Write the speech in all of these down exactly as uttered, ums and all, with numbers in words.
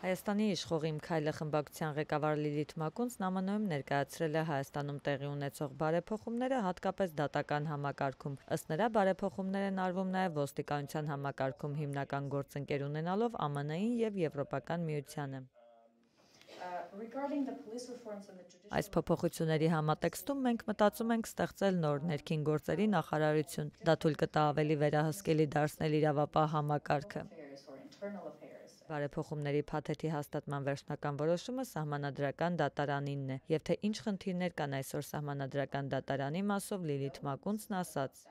Հայաստանի իշխող «Իմ քայլը» խմբակցության ղեկավար Լիլիթ Մակունցն Է Մ Ն Օ-ում ներկայացրել է Հայաստանում տեղի ունեցող բարեփոխումները, հատկապես դատական համակարգում։ Ըստ նրա, բարեփոխումներ են արվում նաև ոստիկանության համակարգում, հիմնական գործընկեր ունենալով Ամն Ին և Եվրոպական միությանը։ Այս փոփոխությունների համատեքստում մենք մտածում ենք ստեղծել նոր ներքին գործերի նախարարություն։ Դա թույլ կտա ավելի վերահսկելի դարձնել իրավապահ համակարգը։ Բարեփոխումների փաթեթի հաստատման վերջնական որոշումը Սահմանադրական դատարանինն է, և թե ինչ խնդիրներ կան այսօր Սահմանադրական դատարանի մասով, Լիլիթ Մակունցն ասաց.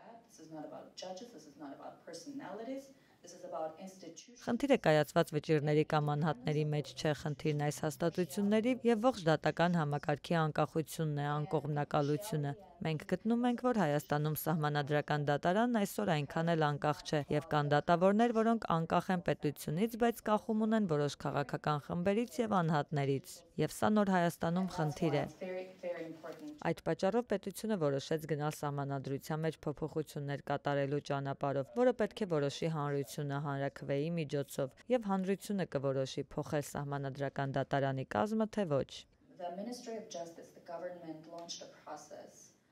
Խնդիրը կայացված վճիռների կամ անհատների մեջ չէ, խնդիրն այս հաստատությունների և ողջ դատական համակարգի անկախությունն է, անկողմնակալությունը։ Մենք գտնում ենք, որ Հայաստանում Սահմանադրական դատարանն այսօր այնքան էլ անկախ չէ, և կան դատավորներ, որոնք անկախ են պետությունից, բայց կախում ունեն որոշ քաղաքական խմբերից և անհատներից։ Եվ սա նոր Հայաստանում խնդիր է։ Այդ պատճառով պետությունը որոշեց գնալ Սահմանադրության մեջ փոփոխություններ կատարելու ճանապարհով, որը պետք է որոշի հանրությունը հանրաքվեի միջոցով, և հանրությունը կորոշի փոխել Սահմանադրական դատարանի կազմը, թե ոչ։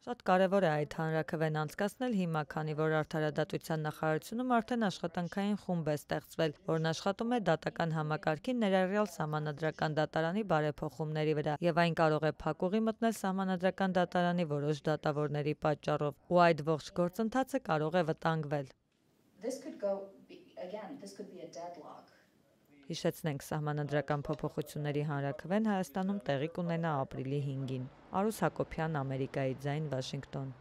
Շատ կարևոր է այդ հանրաքվեն անցկացնել հիմա, քանի որ Արդարադատության նախարարությունում արդեն աշխատանքային խումբ է ստեղծվել, որն աշխատում է դատական համակարգի, ներառյալ Սահմանադրական դատարանի բարեփոխումների վրա, և այն կարող է փակուղի մտնել Սահմանադրական դատարանի որոշ դատավորների պատճառով, ու այդ ողջ գործընթացը կարող է վտանգվել։ Հիշեցնենք, Սահմանադրական փոփոխությունների հանրաքվեն Հայաստանում տեղի կունենա ապրիլի հինգին։ Արուս Հակոբյան, Ամերիկայի ձայն, Վաշինգտոն։